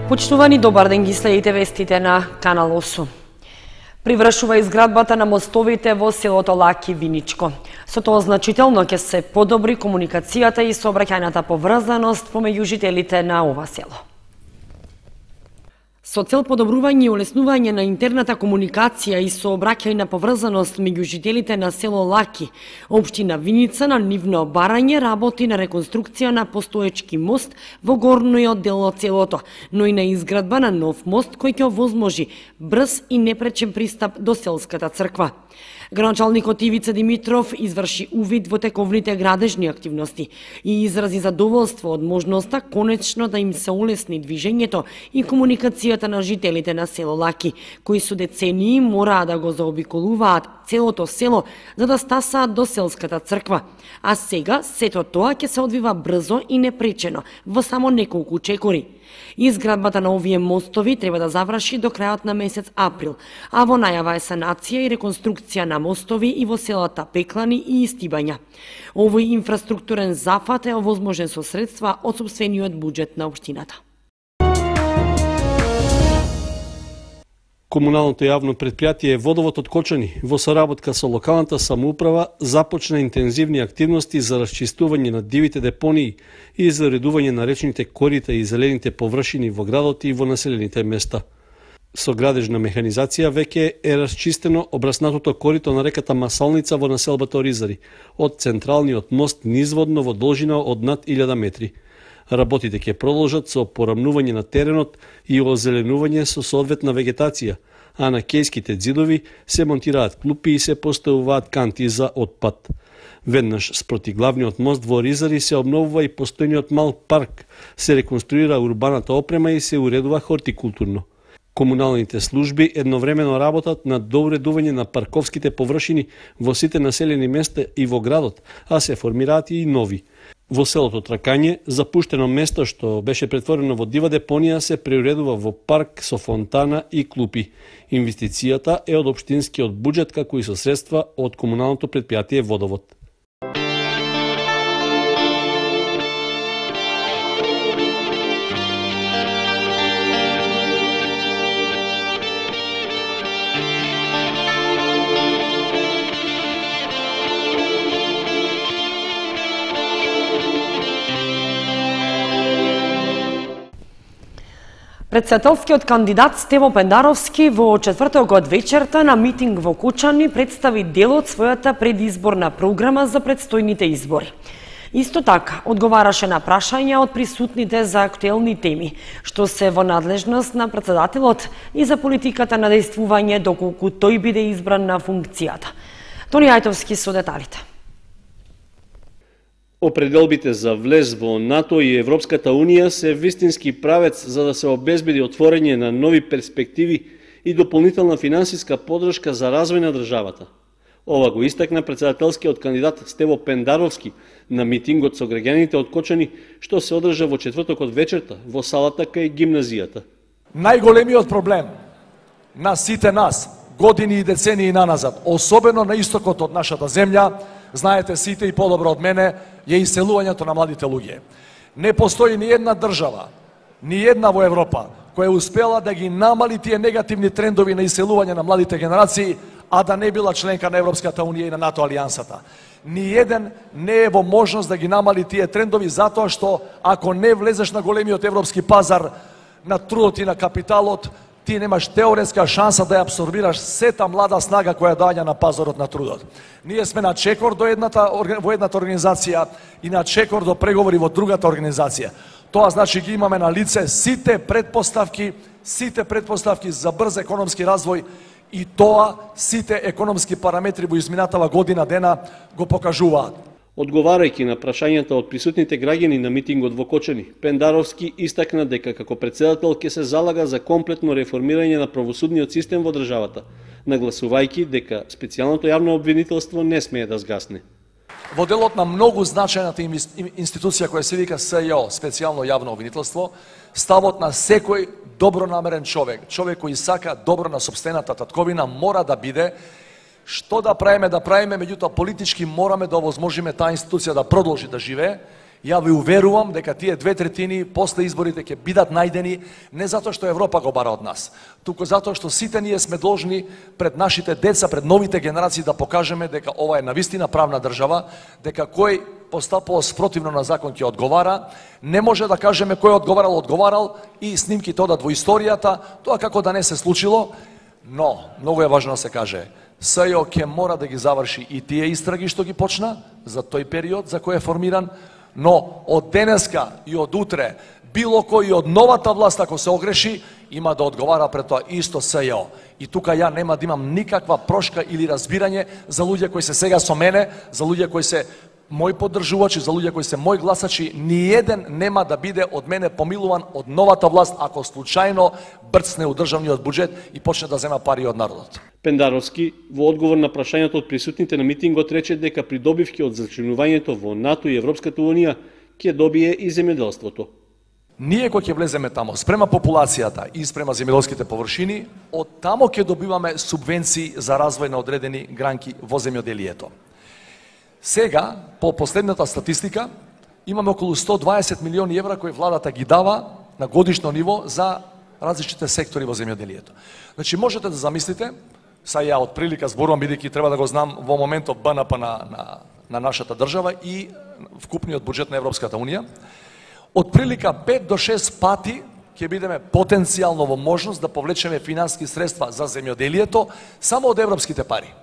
Почитувани, добар ден, ги следите вестите на Канал 8. Привршува изградбата на мостовите во селото Лаки Виничко. Со тоа значително ќе се подобри комуникацијата и сообраќајната поврзаност помеѓу жителите на ова село. Со цел подобрување и улеснување на интерната комуникација и сообраќајна поврзаност меѓу жителите на село Лаки, општина Виница на нивно барање работи на реконструкција на постоечки мост во горниот дел од селото, но и на изградба на нов мост кој ќе овозможи брз и непречен пристап до селската црква. Градоначалникот Ивица Димитров изврши увид во тековните градежни активности и изрази задоволство од можноста конечно да им се улесни движењето и комуникацијата на жителите на село Лаки, кои со децении мораа да го заобиколуваат целото село за да стасаат до селската црква. А сега сето тоа ќе се одвива брзо и непречено во само неколку чекори. Изградбата на овие мостови треба да заврши до крајот на месец април, а во најава е санација и реконструкција на мостови и во селата Пеклани и Истибања. Овој инфраструктурен зафат е овозможен со средства од сопствениот буџет на општината. Комуналното јавно предпријатие Водовод од Кочани во соработка со локалната самоуправа започна интензивни активности за расчистување на дивите депонии и за уредување на речните корита и зелените површини во градот и во населените места. Со градежна механизација веќе е расчистено обраснатото корито на реката Масалница во населбата Оризари, од централниот мост низводно во должина од над 1000 метри. Работите ќе продолжат со порамнување на теренот и озеленување со соодветна вегетација, а на кејските ѕидови се монтираат клупи и се поставуваат канти за отпад. Веднаш спроти главниот мост во Оризари се обновува и постојниот мал парк, се реконструира урбаната опрема и се уредува хортикултурно. Комуналните служби едновремено работат на доуредување на парковските површини во сите населени места и во градот, а се формираат и нови. Во селото Тракање, запуштено место што беше претворено во дива депонија се преуредува во парк со фонтана и клупи. Инвестицијата е од општинскиот буџет како и со средства од комуналното предпријатие Водовод. Председателскиот кандидат Стево Пендаровски во четврток од вечерта на митинг во Кочани представи дел од својата предизборна програма за предстојните избори. Исто така, одговараше на прашања од присутните за актуелни теми, што се во надлежност на председателот и за политиката на действување доколку тој биде избран на функцијата. Тони Ајтовски со деталите. Определбите за влез во НАТО и Европската Унија се вистински правец за да се обезбеди отворење на нови перспективи и дополнителна финансиска подршка за развој на државата. Ова го истакна председателскиот кандидат Стево Пендаровски на митингот со граѓаните од Кочани, што се одржа во четврток од вечерта во салата кај гимназијата. Најголемиот проблем на сите нас, години и децении наназад, особено на истокот од нашата земја, знаете сите и подобро од мене, е иселувањето на младите луѓе. Не постои ни една држава, ни една во Европа, која успела да ги намали тие негативни трендови на иселување на младите генерации, а да не била членка на Европската Унија и на НАТО алијансата. Ни еден не е во можност да ги намали тие трендови, затоа што ако не влезеш на големиот европски пазар на трудот и на капиталот, ти немаш теоретска шанса да ја абсорбираш сета млада снага која доаѓа на пазарот на трудот. Ние сме на чекор во едната организација и на чекор до преговори во другата организација. Тоа значи ги имаме на лице сите предпоставки за брз економски развој и тоа сите економски параметри во изминатава година дена го покажуваат. Одговарајќи на прашањата од присутните граѓани на митингот во Кочани, Пендаровски истакна дека како председател ќе се залага за комплетно реформирање на правосудниот систем во државата, нагласувајќи дека специјалното јавно обвинителство не смее да згасне. Во делот на многу значајната институција која се вика СЈО, специјално јавно обвинителство, ставот на секој добронамерен човек кој сака добро на сопствената татковина мора да биде што да правиме, меѓутоа политички мораме да овозможиме таа институција да продолжи да живее Ја ви уверувам дека тие 2/3 после изборите ќе бидат најдени не затоа што Европа го бара од нас, туку затоа што сите ние сме должни пред нашите деца, пред новите генерации да покажеме дека ова е навистина правна држава, дека кој постапува спротивно на закон ќе одговара, не може да кажеме кој одговарал и снимките одат во историјата, тоа како да не се случило, но многу е важно да се каже, СЈО ќе мора да ги заврши и тие истраги што ги почна за тој период за кој е формиран, но од денеска и од утре, било кој од новата власт ако се огреши, има да одговара пред тоа исто СЈО. И тука ја нема да имам никаква прошка или разбирање за луѓе кои се сега со мене, за луѓе кои се мои поддржувачи, за луѓе кои се мои гласачи, ниеден нема да биде од мене помилуван од новата власт ако случајно брцне у државниот буџет и почне да зема пари од народот. Пендаровски, во одговор на прашањето од присутните на митингот, рече дека придобивки од зачленувањето во НАТО и Европската Унија ќе добие и земјоделството. Ние кој ќе влеземе тамо, спрема популацијата и спрема земјоделските површини, од тамо ќе добиваме субвенции за развој на одредени гранки во земјоделието. Сега, по последната статистика, имаме околу 120 милиони евра кои владата ги дава на годишно ниво за различните сектори во земјоделието. Значи, можете да замислите, са ја од прилика зборувам, бидејќи треба да го знам во моментот БНП на нашата држава и вкупниот буџет на Европската Унија, од прилика 5 до 6 пати ќе бидеме потенцијално во можност да повлечеме финансиски средства за земјоделието само од европските пари.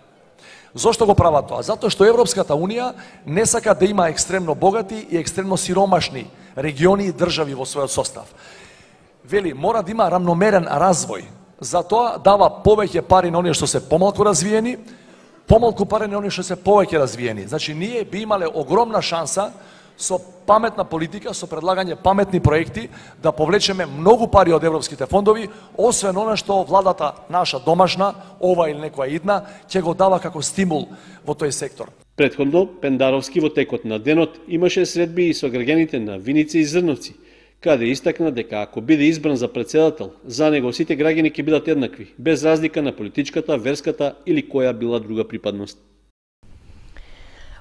Зошто го прават тоа? Затоа што Европската Унија не сака да има екстремно богати и екстремно сиромашни региони и држави во својот состав. Вели, мора да има рамномерен развој. Затоа дава повеќе пари на оние што се помалку развиени, помалку пари на оние што се повеќе развиени. Значи, ние би имале огромна шанса со паметна политика, со предлагање паметни проекти, да повлечеме многу пари од европските фондови, освен она што владата наша домашна, ова или некоја идна, ќе го дава како стимул во тој сектор. Претходно, Пендаровски во текот на денот имаше средби и со граѓаните на Виница и Зрновци, каде истакна дека ако биде избран за председател, за него сите граѓани ќе бидат еднакви, без разлика на политичката, верската или која била друга припадност.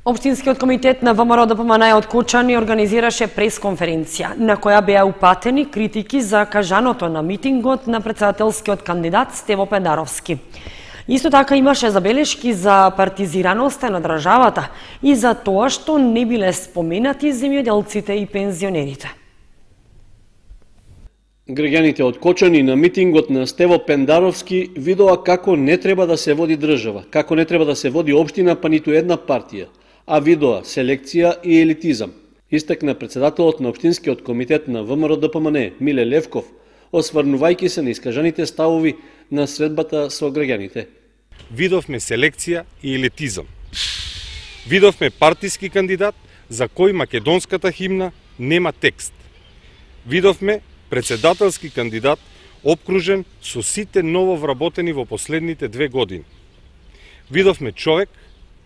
Општинскиот комитет на ВМРО ДПМН од Кочани организираше пресконференција, на која беа упатени критики за кажаното на митингот на председателскиот кандидат Стево Пендаровски. Исто така имаше забелешки за партизираноста на државата и за тоа што не биле споменати земјоделците и пензионерите. Граѓаните од Кочани на митингот на Стево Пендаровски видоа како не треба да се води држава, како не треба да се води општина, па ниту една партија, а видоа селекција и елитизам. Истакна председателот на Општинскиот комитет на ВМРО ДПМН Миле Левков, осврнувајќи се на искажаните ставови на средбата со граѓаните. Видовме селекција и елитизам. Видовме партиски кандидат за кој македонската химна нема текст. Видовме председателски кандидат обкружен со сите ново вработени во последните 2 години. Видовме човек,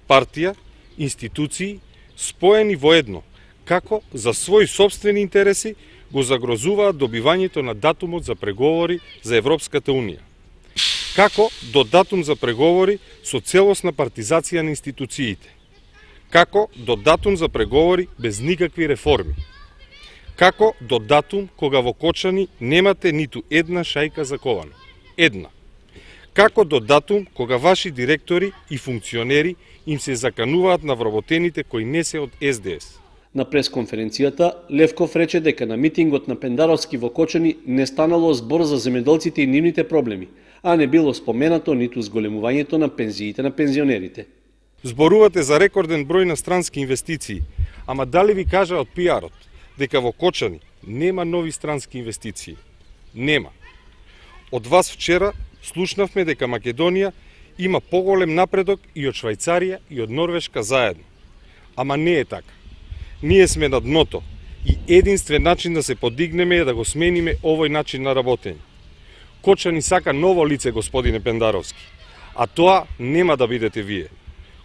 партија, институции споени во едно, како за своји собствени интереси го загрозуваат добивањето на датумот за преговори за Европската Унија. Како до датум за преговори со целосна партизација на институциите. Како до датум за преговори без никакви реформи. Како до датум кога во Кочани немате ниту една шајка за ковано. Една. Како до датум кога ваши директори и функционери им се закануваат на вработените кои не се од СДС. На пресконференцијата Левков рече дека на митингот на Пендаровски во Кочани не станало збор за земјоделците и нивните проблеми, а не било споменато ниту зголемувањето на пензиите на пензионерите. Зборувате за рекорден број на странски инвестиции, ама дали ви кажа од пиарот дека во Кочани нема нови странски инвестиции? Нема. Од вас вчера слушнавме дека Македонија има поголем напредок и од Швајцарија и од Норвешка заедно. Ама не е така. Ние сме на дното и единствен начин да се подигнеме е да го смениме овој начин на работење. Кочани сака ново лице, господине Пендаровски, а тоа нема да бидете вие.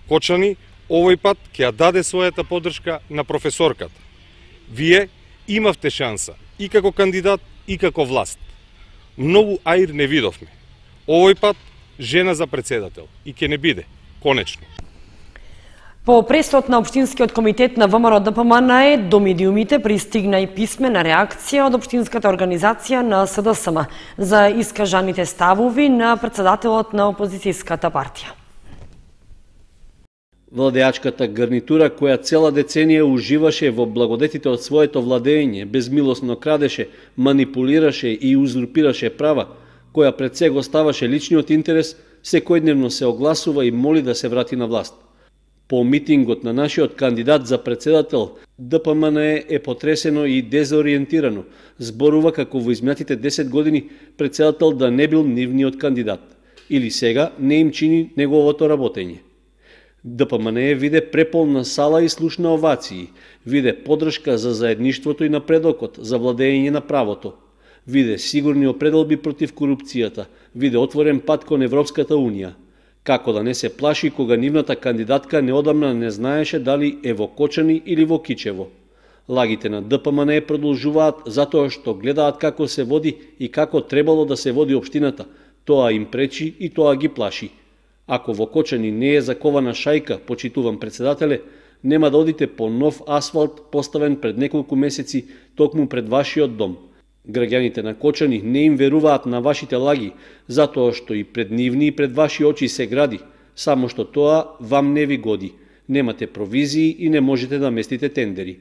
Кочани овој пат ќе ја даде својата поддршка на професорката. Вие имавте шанса и како кандидат и како власт. Многу аир не видовме. Овој пат жена за председател и ќе не биде, конечно. По пресот на Општинскиот комитет на ВМРО ДПМНЕ до медиумите пристигна и писмена реакција од Општинската организација на СДСМ за искажаните ставови на председателот на опозицијската партија. Владеачката гарнитура, која цела деценија уживаше во благодетите од своето владење, безмилосно крадеше, манипулираше и узурпираше права, која пред се го ставаше личниот интерес, секојдневно се огласува и моли да се врати на власт. По митингот на нашиот кандидат за председател, ДПМНЕ е потресено и дезориентирано. Зборува како во изминатите 10 години председател да не бил нивниот кандидат. Или сега не им чини неговото работење. ДПМНЕ виде преполна сала и слушна овации, виде поддршка за заедништвото и напредокот, за владење на правото. Виде сигурни определби против корупцијата, виде отворен пат кон Европската Унија. Како да не се плаши кога нивната кандидатка неодамна не знаеше дали е во Кочани или во Кичево. Лагите на ДПМНЕ продолжуваат затоа што гледаат како се води и како требало да се води општината. Тоа им пречи и тоа ги плаши. Ако во Кочани не е закована шајка, почитуван председателе, нема да одите по нов асфалт поставен пред неколку месеци токму пред вашиот дом. Граѓаните на Кочани не им веруваат на вашите лаги, затоа што и пред нивни и пред ваши очи се гради, само што тоа вам не ви годи. Немате провизии и не можете да местите тендери.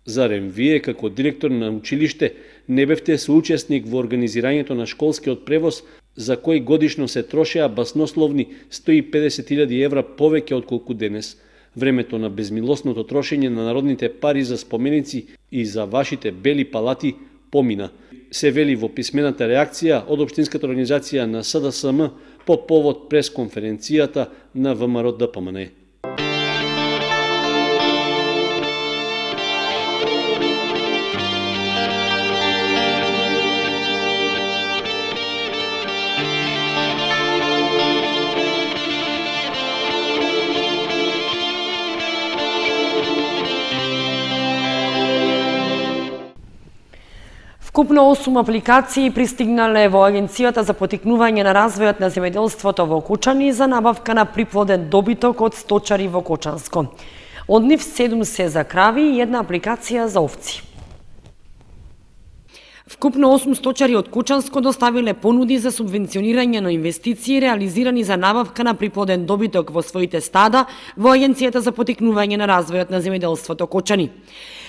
Зарем вие, како директор на училиште, не бевте соучесник во организирањето на школскиот превоз, за кој годишно се трошеа баснословни 150.000 евра повеќе отколку денес? Времето на безмилосното трошење на народните пари за споменици и за вашите бели палати помина, се вели во писмената реакција од Општинската организација на СДСМ по повод пресконференцијата на ВМРО ДПМНЕ. Вкупно 8 апликации пристигнале во Агенцијата за поттикнување на развојот на земјоделството во Кочани за набавка на приплоден добиток од сточари во Кочанско. Од нив 7 се за крави и 1 апликација за овци. Вкупно 8 сточари од Кочанско доставиле понуди за субвенционирање на инвестиции реализирани за набавка на приплоден добиток во своите стада во Агенцијата за поттикнување на развојот на земјоделството Кочани.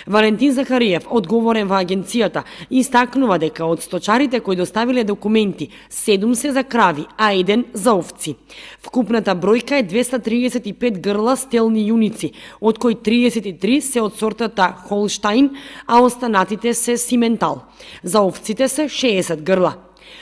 Валентин Захариев, одговорен во агенцијата, истакнува дека од сточарите кои доставиле документи, 7 се за крави, а 1 за овци. Вкупната бројка е 235 грла стелни јуници, од кои 33 се од сортата Холштаин, а останатите се Симентал. За овците се 60 грла.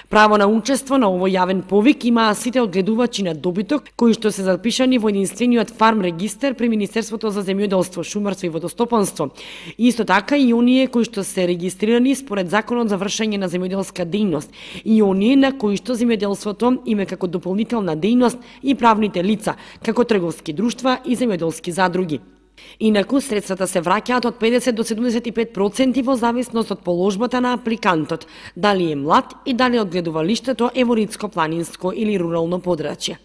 Право на учество на овој јавен повик имаа сите одгледувачи на добиток кои што се запишани во единствениот фарм регистер при Министерството за земјоделство, шумарство и водостопанство. Исто така и оние кои што се регистрирани според Законот за вршење на земјоделска дејност и оние на кои што земјоделството име како дополнителна дејност и правните лица, како трговски друштва и земјоделски задруги. Инаку, средствата се враќаат од 50 до 75% во зависност од положбата на апликантот, дали е млад и дали одгледувалиштето е во ридско-планинско или рурално подрачје.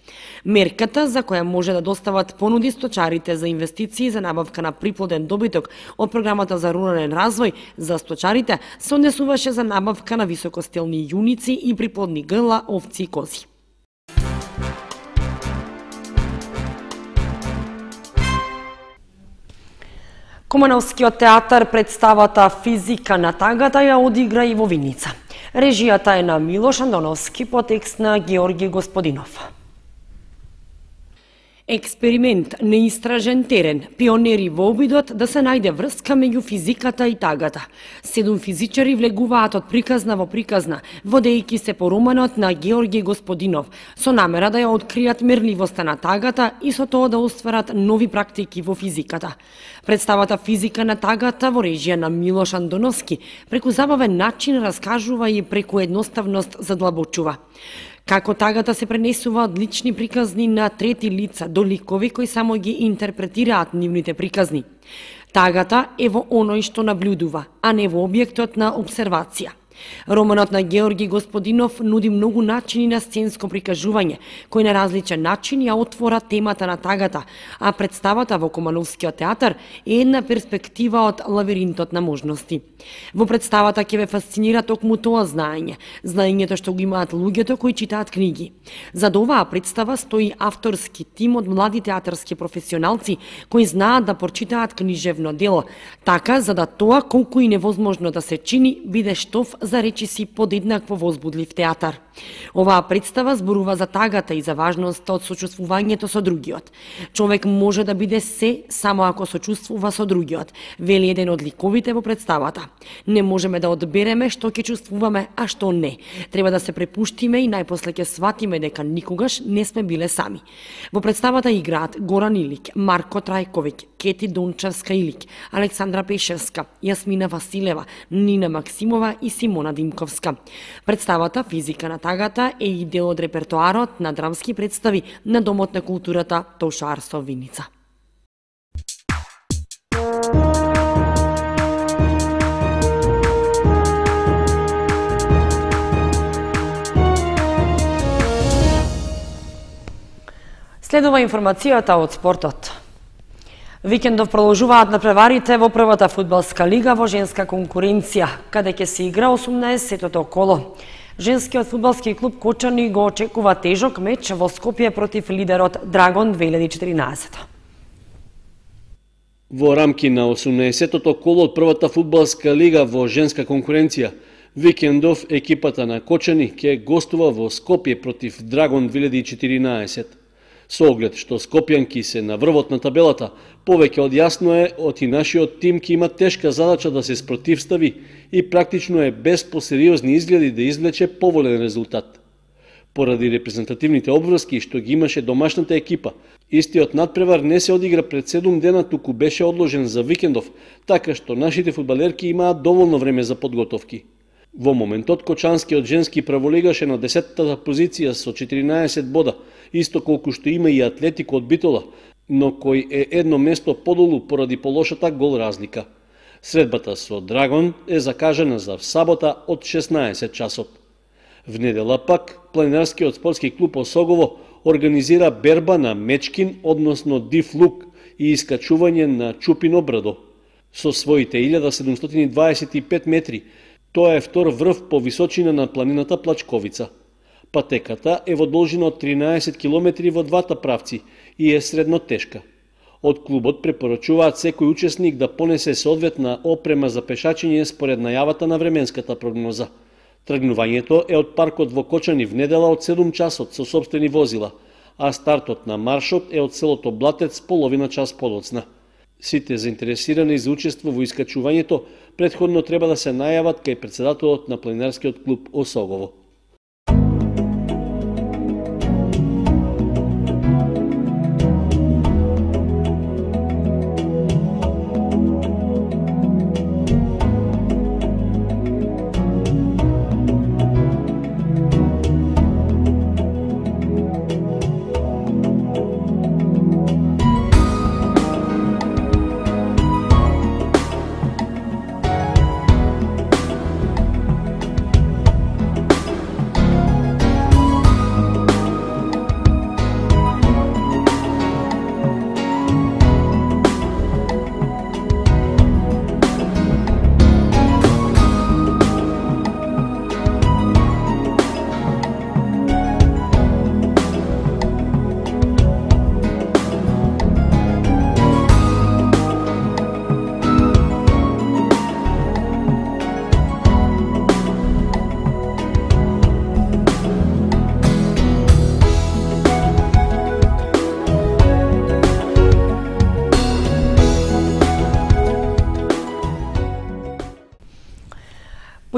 Мерката за која може да достават понуди сточарите за инвестиции за набавка на приплоден добиток од програмата за рурален развој за сточарите се однесуваше за набавка на високостелни јуници и приплодни грла, овци и кози. Кумановскиот театар представата Физика на тагата ја одигра и во Виница. Режијата е на Милош Андоновски по текст на Георги Господинов. Експеримент, неистражен терен, пионери во обидот да се најде врска меѓу физиката и тагата. 7 физичари влегуваат од приказна во приказна, водејќи се по романот на Георги Господинов, со намера да ја откријат мерливоста на тагата и со тоа да остварат нови практики во физиката. Представата Физика на тагата во режија на Милош Андоновски преку забавен начин раскажува и преку едноставност задлабочува. Како тагата се пренесува од лични приказни на трети лица до ликови кои само ги интерпретираат нивните приказни. Тагата е во оној што наблюдува, а не во објектот на обсервација. Романот на Георги Господинов нуди многу начини на сценско прикажување, кои на различен начин ја отвора темата на тагата, а представата во Кумановскиот театар е една перспектива од лавиринтот на можности. Во представата ќе ве фасцинира токму тоа знаењето што го имаат луѓето кои читаат книги. За оваа представа стои авторски тим од млади театарски професионалци кои знаат да прочитаат книжевно дело, така за да тоа колку и невозможно да се чини биде штоф за речиси подеднакво возбудлив театар. Оваа представа зборува за тагата и за важноста од сочувствувањето со другиот. Човек може да биде се само ако сочувствува со другиот, вели еден од ликовите во представата. Не можеме да одбереме што ќе чувствуваме, а што не. Треба да се препуштиме и најпосле ќе сватиме дека никогаш не сме биле сами. Во представата играат Горан Илик, Марко Трајковиќ, Кети Дончевска Илик, Александра Пешевска, Јасмина Василева, Нина Максимова и Симона Димковска. Представата Физика на тагата е и дел од репертоарот на драмски представи на Домот на културата Тоша Арсов Виница. Следува информацијата од спортот. Викендов продолжуваат надпреварите во првата фудбалска лига во женска конкуренција, каде ќе се игра 18-тото коло. Женскиот фудбалски клуб Кочани го очекува тежок меч во Скопје против лидерот Драгон 2014. Во рамки на 18-тото коло од првата фудбалска лига во женска конкуренција, викендов екипата на Кочани ќе гостува во Скопје против Драгон 2014. Со оглед што скопјанки се на врвот на табелата, повеќе од јасно е оти нашиот тим ќе има тешка задача да се спротивстави и практично е без посериозни изгледи да извлече поволен резултат. Поради репрезентативните обврски што ги имаше домашната екипа, истиот надпревар не се одигра пред 7 дена, туку беше одложен за викендов, така што нашите фудбалерки имаат доволно време за подготовки. Во моментот Кочанскиот женски праволигаш е на 10-та позиција со 14 бода, исто колку што има и Атлетико од Битола, но кој е едно место подолу поради полошата гол разлика. Средбата со Драгон е закажана за сабота од 16 часот. В недела пак, планинарскиот спортски клуб Осогово организира берба на мечкин, односно див лук и искачување на чупино брдо. Со своите 1725 метри, тоа е втор врв по височина на планината Плачковица. Патеката е во должина од 13 км во двата правци и е средно тешка. Од клубот препорачуваат секој учесник да понесе соодветна опрема за пешачење според најавата на временската прогноза. Тргнувањето е од паркот во Кочани в недела од 7 часот со сопствени возила, а стартот на маршот е од селото Блатец половина час подоцна. Сите заинтересирани за учество во искачувањето претходно треба да се најават кај председателот на планинарскиот клуб Осогово.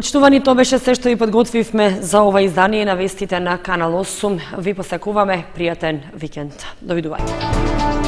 Почитувани, тоа беше се што ви подготвивме за ова издание на вестите на Канал 8. Ви посакуваме пријатен викенд. Довидување.